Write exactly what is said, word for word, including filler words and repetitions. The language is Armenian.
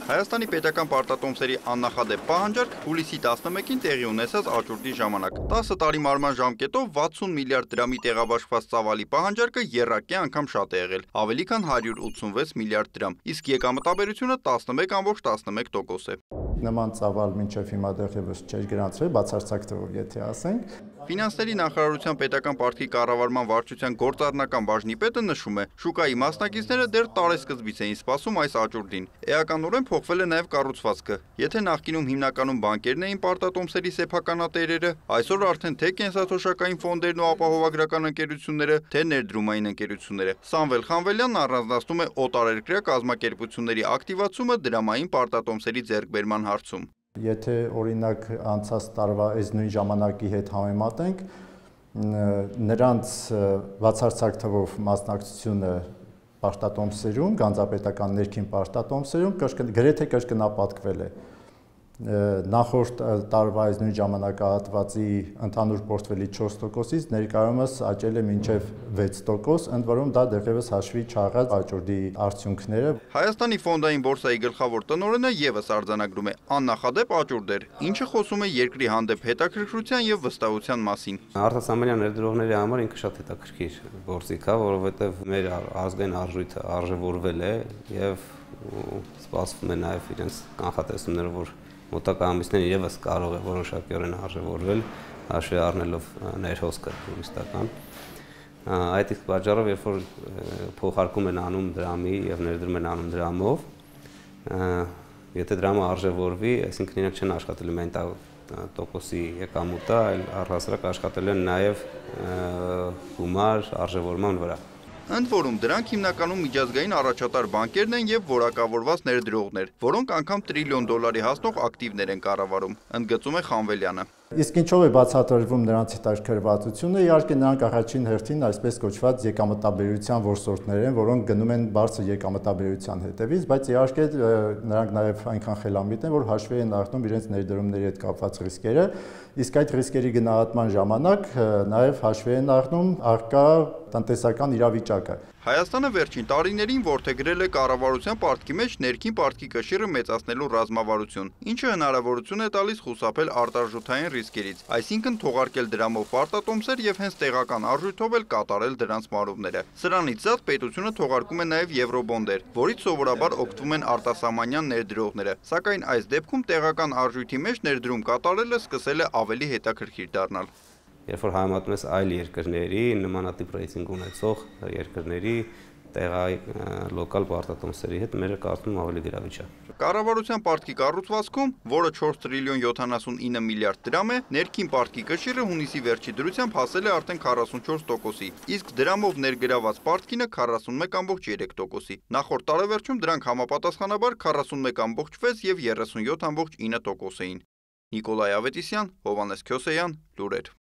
Հայաստանի պետական պարտատոմսերի աննախադեպ պահանջարկ հուլիսի տասնմեկին տեղի ունեցած աճուրդի ժամանակ տասը տարի մարման ժամկետով վաթսուն միլիարդ դրամի տեղաբաշխված ծավալի պահանջարկը եռակի անգամ շատ է եղել, ավելի քան հարյուր ութսունվեց միլիարդ դրամ, իսկ եկամտաբերությունը տասնմեկ կόμμα տասնմեկ տոկոս է։ Նման ծավալ մինչև հիմա դեռևս չէր գրանցվել, բացարձակ թվով եթե ասենք։ Ֆինանսների նախարարության պետական պարտքի կառավարման վարչության գործառնական բաժնի պետը նշում է, շուկայի մասնակիցները դեռ տարեսկզբից էին սպասում այս աճուրդին։ Էականորեն փոխվել է նաև կառուցվածքը։ Եթե նախկինում հիմնականում բանկերն էին պարտատոմսերի սեփականատերերը, այսօր արդեն թե կենսաթոշակային ֆոնդերն ու ապահովագրական ընկերությունները, թե ներդրումային ընկերությունները։ Սամվել Խանվելյանն առանձնացնում է օտարերկրյա կազմակերպությունների ակտիվացումը դրամային պարտատոմսերի ձեռքբերման հարցում։ Եթե օրինակ անցած տարվա այս նույն ժամանակի հետ համեմատենք, նրանց բացարձակ թվով մասնակցությունը պարտատոմսերում, գանձապետական ներքին պարտատոմսերում գրեթե կրկնապատկվել է։ Նախորդ տարվա այս նույն ժամանակահատվածի ընդհանուր պորտֆելի չորս տոկոսից ներկայումս աճել է մինչև վեց տոկոս, ընդ որում դա դեռևս հաշվի չառած աճուրդի արդյունքները։ Հայաստանի ֆոնդային բորսայի գլխավոր տնօրենը եւս արձանագրում է աննախադեպ աճուրդ էր, ինչը խոսում է երկրի հանդեպ հետաքրքրության եւ վստահության մասին։ Արտասահմանյան ներդրողների համար ինքը շատ հետաքրքիր գործիք է, որովհետեւ մեր ազգային արժույթը արժևորվել է եւ սպասվում է նաեւ իրենց կանխատեսումները, որ մոտակա ամիսներին եւս կարող է որոշակիորեն արժևորվել, հաշվի առնելով ներհոսքը տուրիստական։ Այդ իսկ պատճառով, երբ որ փոխարկում են անում դրամի եւ ներդրում են անում դրամով, եթե դրամը արժևորվի, այսինքն իրենք չեն աշխատելու միայն տոկոսի եկամուտը, այլ առհասարակ աշխատելու են նաեւ գումար արժևորման վրա։ Ընդ որում դրանք հիմնականում միջազգային առաջատար բանկերն են եւ որակավորված ներդրողներ, որոնք անգամ տրիլիոն դոլարի հասնող ակտիվներ են կառավարում, ընդգծում է Խանվելյանը։ Իսկ ինչով է բացատրվում նրանց հետաքրքրվածությունը, իհարկե նրանք առաջին հերթին այսպես կոչված եկամտաբերության որսորդներ են, որոնք գնում են բարձր եկամտաբերության հետևից, բայց իհարկե նրանք նաև այնքան խելամիտ են, որ հաշվի են առնում իրենց ներդրումների հետ կապված ռիսկերը, իսկ այդ ռիսկերի գնահատման ժամանակ նաև հաշվի են առնում առկա տնտեսական իրավիճակը։ Հայաստանը վերջին տարիներին որդեգրել է կառավարության պարտքի մեջ ներքին պարտքի կշիռը մեծացնելու ռազմավարություն, ինչը հնարավորություն է տալիս խուսափել արտարժութային ռիսկերից, այսինքն թողարկել դրամով պարտատոմսեր եւ հենց տեղական արժույթով էլ կատարել դրանց մարումները։ Սրանից զատ պետությունը թողարկում է նաեւ եվրոբոնդեր, որից սովորաբար օգտվում են արտասահմանյան ներդրողները, սակայն այս դեպքում տեղական արժույթի մեջ ներդրում կատարելը սկսել է ավելի հետաքրքիր դառնալ։ Երբ որ համեմատում ես այլ երկրների, նմանատիպ ռեյտինգ ունեցող երկրների տեղայի լոկալ պարտատոմսերի հետ, մերը կարծում ավելի գրավիչ է։ Կառավարության պարտքի կառուցվածքում, որը չորս տրիլիոն յոթանասունինը միլիարդ դրամ է, ներքին պարտքի կշիռը հունիսի վերջի դրությամբ հասել է արդեն քառասունչորս տոկոսի, իսկ դրամով ներգրաված պարտքինը քառասունմեկ կόμμα երեք տոկոսի։ Նախորդ տարեվերջում դրանք համապատասխանաբար քառասունմեկ կόμμα վեց եւ երեսունյոթ կόμμα ինը տոկոս էին։ Նիկոլայ Ավետիսյան, Հովհաննես Քյոսեյան, լուրեր։